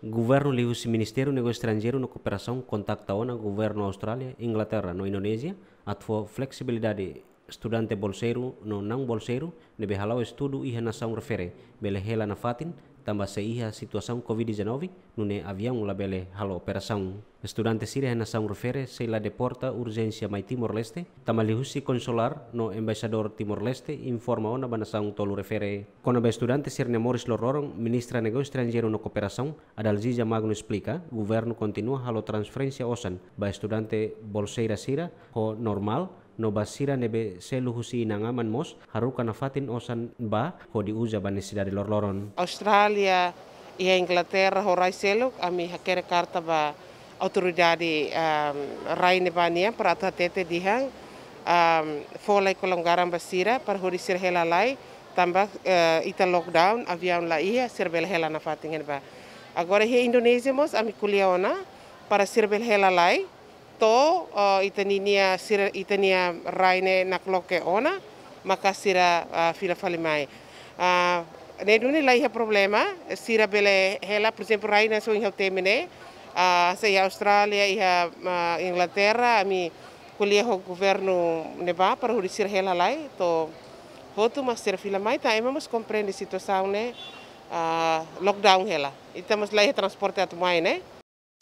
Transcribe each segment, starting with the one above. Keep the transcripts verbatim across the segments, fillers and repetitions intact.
Governu liuhusi Ministériu Negósiu Estranjeiru no Kooperasaun kontakta ona governu Austrália, Inglaterra no Indonézia atu fó fleksibilidade estudante bolseiru no naun-bolseiru ne'ebé hala'o estudu iha nasaun refere bele hela nafatin, tanba sei iha situasaun covid dezanove, nune'e aviaun labele halo operasaun. Estudante sira iha nasaun refere sei la deporta urjénsia mai Timor-Leste, tanba liuhusi konsulár no embaixadór Timor-Leste informa ona ba nasaun tolu refere. Kona-ba estudante sira-nia moris loroloron, Ministra Negósiu Estranjeiru no Kooperasaun, Adalzija Magno esplika, governu kontinua halo transferénsia osan ba estudante bolseira sira ho normál, no ba sira ne'ebé selu husi inan-aman mós haruka nafatin osan ba hodi uza ba nesesidade loroloron. Austrália, iha Inglaterra ho rai seluk, ami hakerek karta ba autoridade, ehm, rai ne'ebá nian para atu hatete dehan, ehm, fó lai kelonggaran ba sira para hodi sira hela lai, tanba, eh, ita lockdown, aviaun la iha, sira bele hela nafatin iha ne'ebá. Agora iha Indonézia mós ami ko'alia ona para sira bele hela lai, to'o, eh, ita-nia sira, ita-nia rai ne'e nakloke ona, maka sira, ah, fila fali mai. Ah, ne'e duni la iha problema, sira bele hela, por ezemplu, rai ne'ebé ohin ha'u temi ne'e, ah, sei iha Austrália, iha, ah, Inglaterra, ami ko'alia ho governu ne'ebá para hodi sira hela lai, to'o hotu mak sira fila mai, tanba ema mós komprende situasaun ne'e, ah, lockdown hela. Ita mós la iha transporte atu mai ne'e.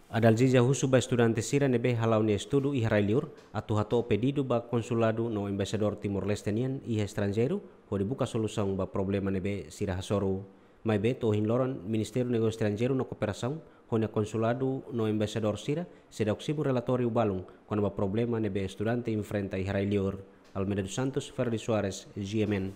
Adalzija husu ba estudante sira ne'ebé hala'o nia estudu iha rai liur atu hato'o pedidu ba konsuladu no embaixadór Timor-Leste nian iha estranjeiru hodi buka solusaun ba problema ne'ebé sira hasoru. Maibé to'o ohin loron, Ministériu Negósiu Estranjeiru no Kooperasaun ho nia konsuladu no embaixadór sira seidauk simu relatóriu balun kona-ba problema ne'ebé estudante enfrenta iha rai liur. Almeida dos Santos, Freddy Soares, G M N.